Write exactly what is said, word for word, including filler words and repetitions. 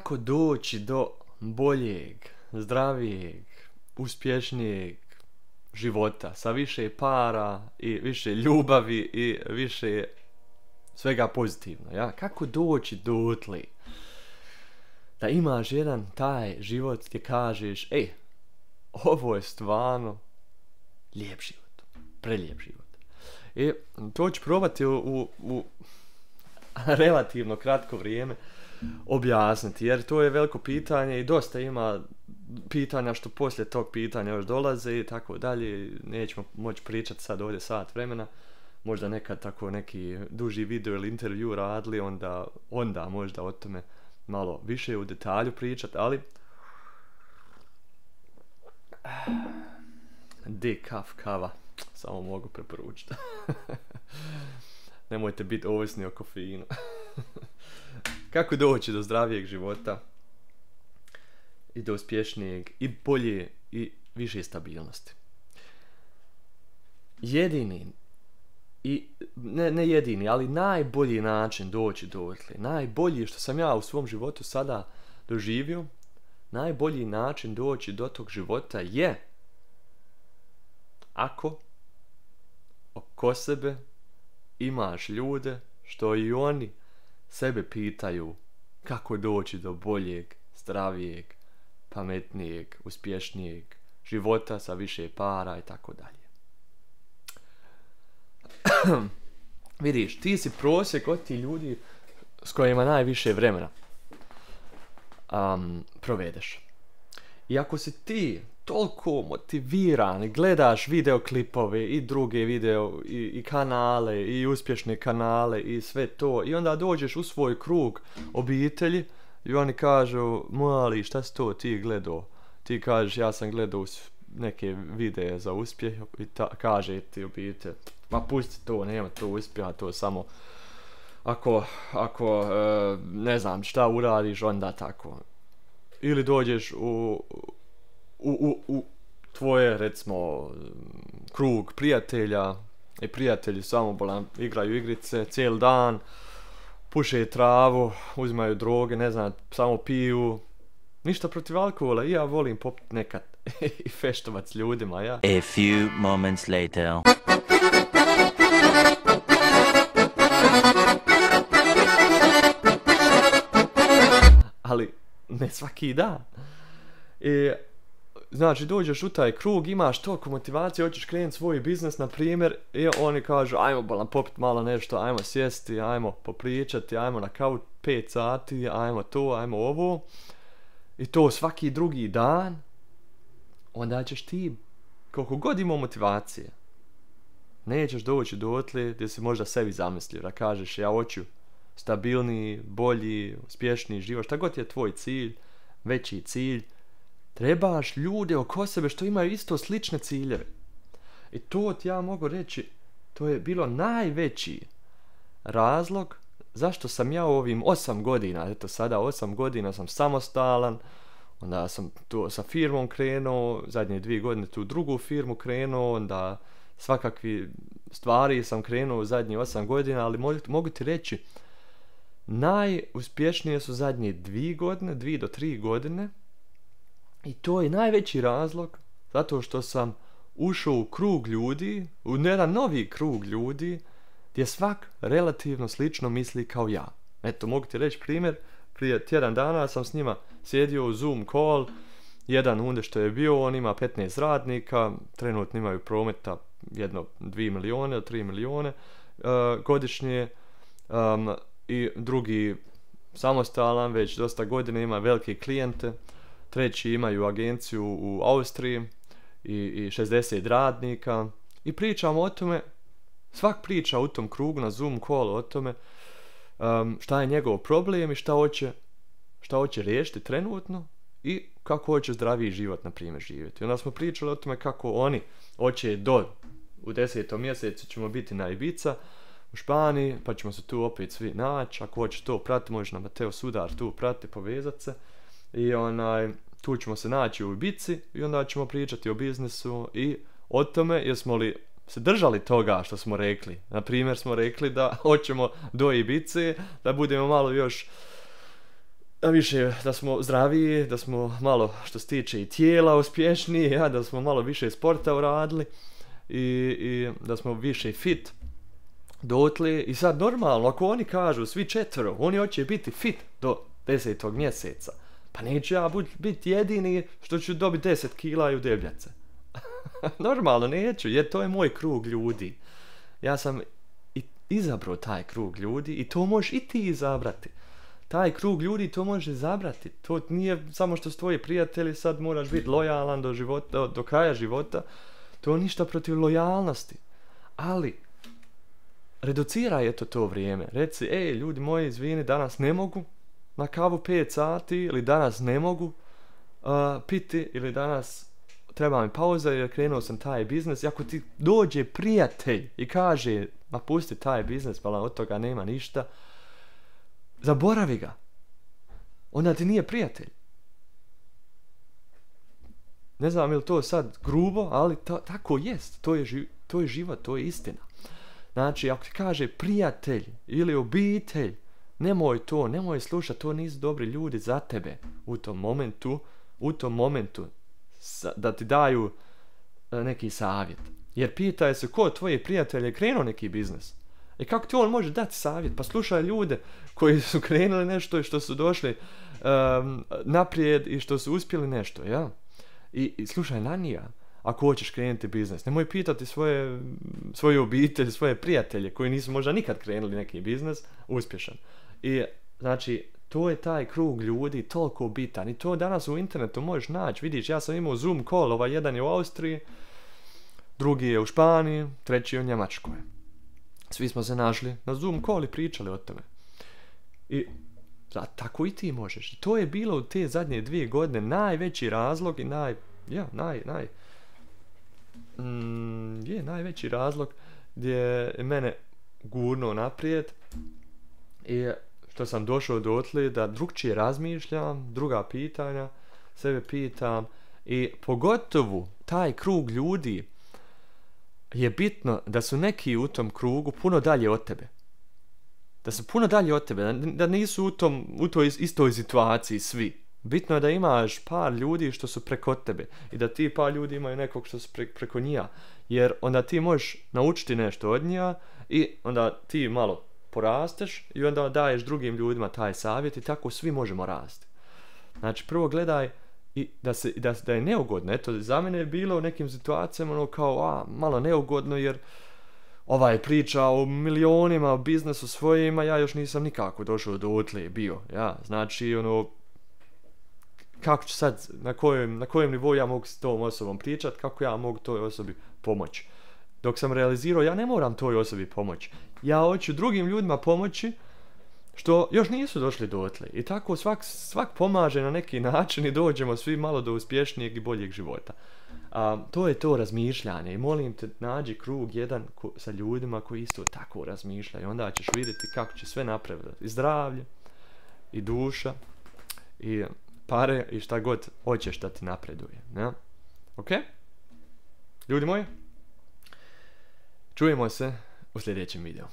kako doći do boljeg, zdravijeg, uspješnijeg života sa više para i više ljubavi i više svega pozitivno, ja? Kako doći dotle da imaš jedan taj život gdje kažeš, ej, ovo je stvarno lijep život, prelijep život. I to ću probati u, u, u relativno kratko vrijeme objasniti, jer to je veliko pitanje i dosta ima pitanja što poslije tog pitanja još dolaze i tako dalje. Nećemo moći pričati sad ovdje sat vremena, možda nekad tako neki duži video ili intervju radili, onda, onda možda o tome malo više u detalju pričati, ali dekaf kava samo mogu preporučiti. Nemojte biti ovisni o kofeinu. Kako doći do zdravijeg života i do uspješnijeg i bolje i više stabilnosti? Jedini i ne, ne jedini, ali najbolji način doći dotle, najbolji što sam ja u svom životu sada doživio, najbolji način doći do tog života je ako oko sebe imaš ljude što i oni sebe pitaju kako doći do boljeg, zdravijeg, pametnijeg, uspješnijeg života sa više para i tako dalje. Vidiš, ti si prosjek od ti ljudi s kojima najviše vremena um, provedeš. I ako si ti toliko motiviran i gledaš videoklipove i druge video i, i kanale i uspješne kanale i sve to i onda dođeš u svoj krug obitelji i oni kažu, mali, šta si to ti gledao? Ti kažeš, ja sam gledao neke videe za uspjeh i ta, kaže ti obitelj, ma pusti to, nema to uspjeha, to samo ako, ako e, ne znam šta uradiš, onda tako. Ili dođeš u U, u, u tvoje, recimo, krug prijatelja i prijatelji samobolan igraju igrice cijeli dan, puše travu, uzimaju droge, ne znam, samo piju. Ništa protiv alkohola, i ja volim popiti nekad i feštovat s ljudima, ja. A few moments later. Ali ne svaki dan. I znači, dođeš u taj krug, imaš toliko motivacije, hoćeš krenuti svoj biznis, na primjer, i oni kažu, ajmo balan popiti malo nešto, ajmo sjesti, ajmo popričati, ajmo na kauč pet sati, ajmo to, ajmo ovo. I to svaki drugi dan, onda ćeš ti, koliko god imao motivacije, nećeš doći dotle gdje si možda sebi zamislio, da kažeš, ja hoću stabilniji, bolji, uspješniji život, šta god je tvoj cilj, veći cilj, trebaš ljude oko sebe što imaju isto slične ciljeve. I to ti ja mogu reći, to je bilo najveći razlog zašto sam ja u ovim osam godina, eto sada osam godina sam samostalan, onda sam tu sa firmom krenuo, zadnje dvije godine tu drugu firmu krenuo, onda svakakvi stvari sam krenuo u zadnjih osam godina, ali mogu, mogu ti reći, najuspješnije su zadnje dvije godine, dvije do tri godine. I to je najveći razlog zato što sam ušao u krug ljudi, u jedan novi krug ljudi, gdje svak relativno slično misli kao ja. Eto, mogu ti reći primjer, prije tjedan dana sam s njima sjedio u Zoom call, jedan unde što je bio, on ima petnaest radnika, trenutno imaju prometa jedno dvije milijone do tri milijone uh, godišnje, um, i drugi samostalan, već dosta godina ima velike klijente, treći imaju agenciju u Austriji i, i šezdeset radnika i pričamo o tome, svak priča u tom krugu na Zoom call o tome um, šta je njegov problem i šta hoće, šta hoće riješiti trenutno i kako hoće zdraviji život, na primjer, živjeti. Onda smo pričali o tome kako oni hoće do, u desetom mjesecu ćemo biti na Ibiza u Španiji, pa ćemo se tu opet svi naći, ako hoćeš to prati, možeš na Mateo Sudar tu prati, povezat se. I onaj, tu ćemo se naći u Ibici i onda ćemo pričati o biznisu i o tome jesmo li se držali toga što smo rekli. Na primjer smo rekli da hoćemo do Ibice, da budemo malo još više da smo zdraviji, da smo malo što se tiče i tijela uspješniji, ja, da smo malo više sporta uradili i, i da smo više fit dotle. I sad normalno, ako oni kažu svi četvero, oni hoće biti fit do desetog mjeseca, pa neću ja biti jedini što ću dobiti deset kila i u debljace. Normalno neću, jer to je moj krug ljudi. Ja sam i izabrao taj krug ljudi i to možeš i ti izabrati. Taj krug ljudi to može izabrati. To nije samo što su tvoji prijatelji, sad moraš biti lojalan do, života, do, do kraja života. To je ništa protiv lojalnosti. Ali, reduciraj eto to vrijeme. Reci, ej, ljudi moji, izvini, danas ne mogu na kavu pet sati, ili danas ne mogu uh, piti, ili danas treba mi pauza jer krenuo sam taj biznes. I ako ti dođe prijatelj i kaže, ma pusti taj biznes, pa od toga nema ništa, zaboravi ga. Onda ti nije prijatelj. Ne znam je li to sad grubo, ali to, tako jest. To je, ži, to je život, to je istina. Znači, ako ti kaže prijatelj ili obitelj, nemoj to, nemoj slušati, to nisu dobri ljudi za tebe u tom momentu, u tom momentu da ti daju neki savjet. Jer pitaj se ko tvoji prijatelji krenuo neki biznes. I kako ti on može dati savjet? Pa slušaj ljude koji su krenuli nešto i što su došli um, naprijed i što su uspjeli nešto, ja? I, i slušaj na njega ako hoćeš krenuti biznes. Nemoj pitati svoje, svoju obitelj, svoje prijatelje koji nisu možda nikad krenuli neki biznes uspješan. I znači, to je taj krug ljudi toliko bitan. I to danas u internetu možeš naći. Vidiš, ja sam imao Zoom call, ovaj jedan je u Austriji, drugi je u Španiji, treći je u Njemačkoj. Svi smo se našli na Zoom call i pričali o tome. I da, tako i ti možeš. I to je bilo u te zadnje dvije godine najveći razlog i naj... Ja, naj... naj mm, je, najveći razlog gdje je mene gurnuo naprijed i što sam došao dotle da drugčije razmišljam, druga pitanja sebe pitam i pogotovo taj krug ljudi je bitno da su neki u tom krugu puno dalje od tebe. Da su puno dalje od tebe, da nisu u, tom, u toj istoj situaciji svi. Bitno je da imaš par ljudi što su preko tebe i da ti par ljudi imaju nekog što su pre, preko njija. Jer onda ti možeš naučiti nešto od njija i onda ti malo porasteš i onda daješ drugim ljudima taj savjet i tako svi možemo rasti. Znači prvo gledaj i da, se, da, da je neugodno. Eto, za mene je bilo u nekim situacijama ono kao, a, malo neugodno jer ovaj priča o milionima, o biznesu svojima, ja još nisam nikako došao do otle bio, ja, znači, ono, kako ću sad, na kojem, na kojem nivou ja mogu s tom osobom pričat, kako ja mogu toj osobi pomoći. Dok sam realizirao, ja ne moram toj osobi pomoći, ja hoću drugim ljudima pomoći, što još nisu došli do otle. I tako svak, svak pomaže na neki način i dođemo svi malo do uspješnijeg i boljeg života. A, to je to razmišljanje i molim te nađi krug jedan ko, sa ljudima koji isto tako razmišljaju. Onda ćeš vidjeti kako će sve napraviti. I zdravlje, i duša, i pare, i šta god hoćeš da ti napreduje. Ja? Ok? Ljudi moji, čujemo se u sljedećem videu.